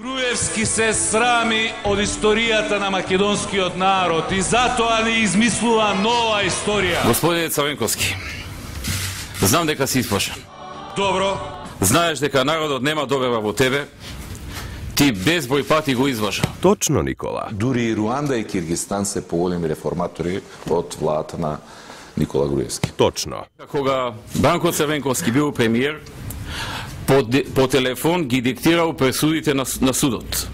Груевски се срами од историјата на македонскиот народ и затоа не измислува нова историја. Господине Црвенковски, знам дека си исплашен. Добро. Знаеш дека народот нема доверба во тебе. Ти безброј пати го излажа. Точно, Никола. Дури и Руанда и Киргизстан се поголеми реформатори од владата на Никола Груевски. Точно. Кога Бранко Црвенковски бил премиер, по телефон ги диктирал пресудите на судот.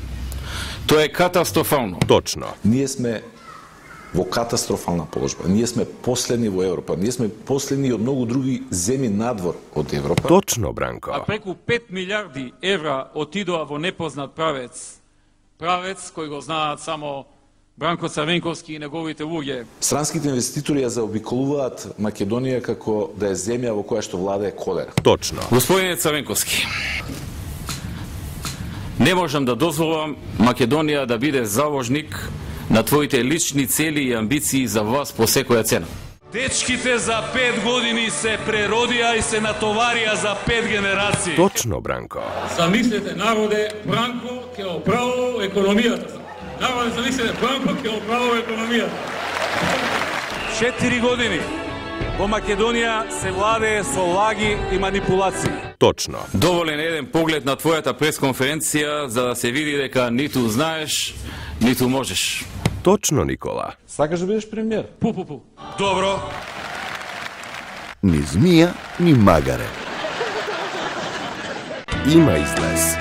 Тоа е катастрофално. Точно. Ние сме во катастрофална положба. Ние сме последни во Европа. Ние сме последни од многу други земји надвор од Европа. Точно, Бранко. А преку 5 милиарди евра отидоа во непознат правец. Правец кој го знаат само Бранко Црвенковски и неговите луѓе. Странските инвеститори ја заобиколуваат Македонија како да е земја во која што владее колера. Точно. Господине Црвенковски, не можам да дозволам Македонија да биде заложник на твоите лични цели и амбиции за власт по секоја цена. Дечките за 5 години се преродија и се натоварија за 5 генерации. Точно, Бранко. Замислете, народе, Бранко ќе оправува економијата. Народе, замислете, Бранко ќе оправува економијата. 4 години во Македонија се владее со лаги и манипулации. Точно. Доволен еден поглед на твојата пресконференција за да се види дека ниту знаеш, ниту можеш. Точно, Никола. Сакаш да бидеш премиер? Пу. Добро. Ни змија, ни магаре. Има излез.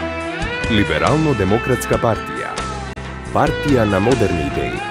Либерално-демократска партија. Партија на модерни идеи.